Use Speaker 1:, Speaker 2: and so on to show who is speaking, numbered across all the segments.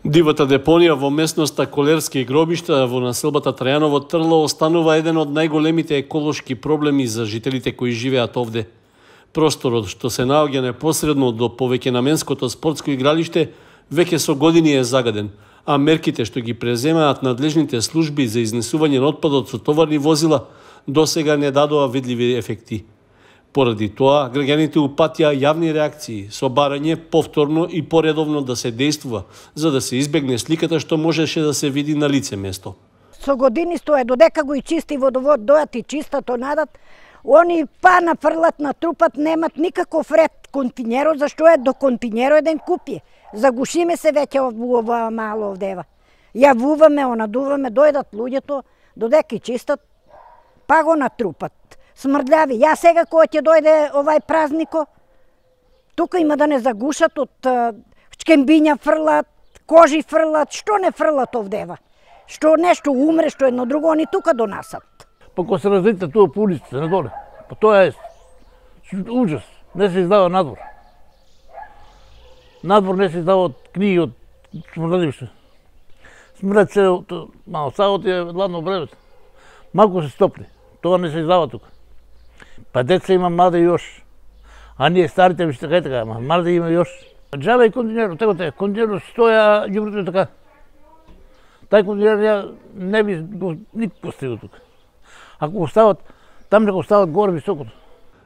Speaker 1: Дивата депонија во местноста Колерски гробишта во населбата Трајаново Трло останува еден од најголемите еколошки проблеми за жителите кои живеат овде. Просторот што се наоѓа непосредно до повеќенаменското спортско игралиште веќе со години е загаден, а мерките што ги преземаат надлежните служби за изнесување на отпадот со товарни возила досега не дадоа видливи ефекти. Поради тоа, граѓаните упатија јавни реакции со барање повторно и поредовно да се действува, за да се избегне сликата што можеше да се види на лице место.
Speaker 2: Со години стоја, додека го и чисти водовод, дојат и чистат онадат, они па нафрлат, натрупат, немат никаков ред континерот, зашто е до континерот еден купи. Загушиме се веќе ова мало овдева. Јавуваме, онадуваме, дојдат луѓето, додека и чистат, па го натрупат. Смрдљави. Ја сега кој ќе дојде овај празнико, тука има да не загушат од чкембиња фрлат, кожи фрлат, што не фрлат овдева. Што нешто умре, што едно друго, они тука донасат.
Speaker 3: Па кога се разлите тоа по улиците, надоле, па тоа е ужас. Не се издава надвор. Надвор не се издава од книги, од смрдливиште. Смрдат се, мало саот е ладно време. Малку се стопли. Тоа не се издава тука. Па деца има млади још, а ние старите виште кај така, млади има још. Джабе и континерот, тако те, континерот стоја ѓубрето така. Тај континер ја не би го никак постигал тука. Ако го стават, там не го стават горе високото.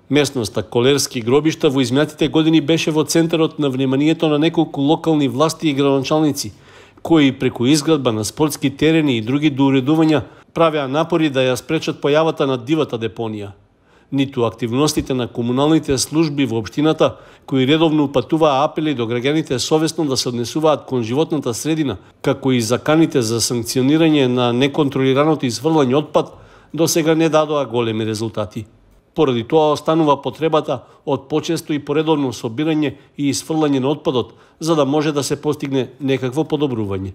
Speaker 1: Местноста Колерски гробишта во изминатите години беше во центарот на вниманието на неколку локални власти и градоначалници, кои преку изградба на спортски терени и други доуредувања правеа напори да ја спречат појавата на дивата депонија. Ниту активностите на комуналните служби во општината, кои редовно упатуваа апели до граѓаните совесно да се однесуваат кон животната средина, како и заканите за санкционирање на неконтролираното изфрлање отпад, досега не дадоа големи резултати. Поради тоа останува потребата од почесто и поредовно собирање и изфрлање на отпадот, за да може да се постигне некакво подобрување.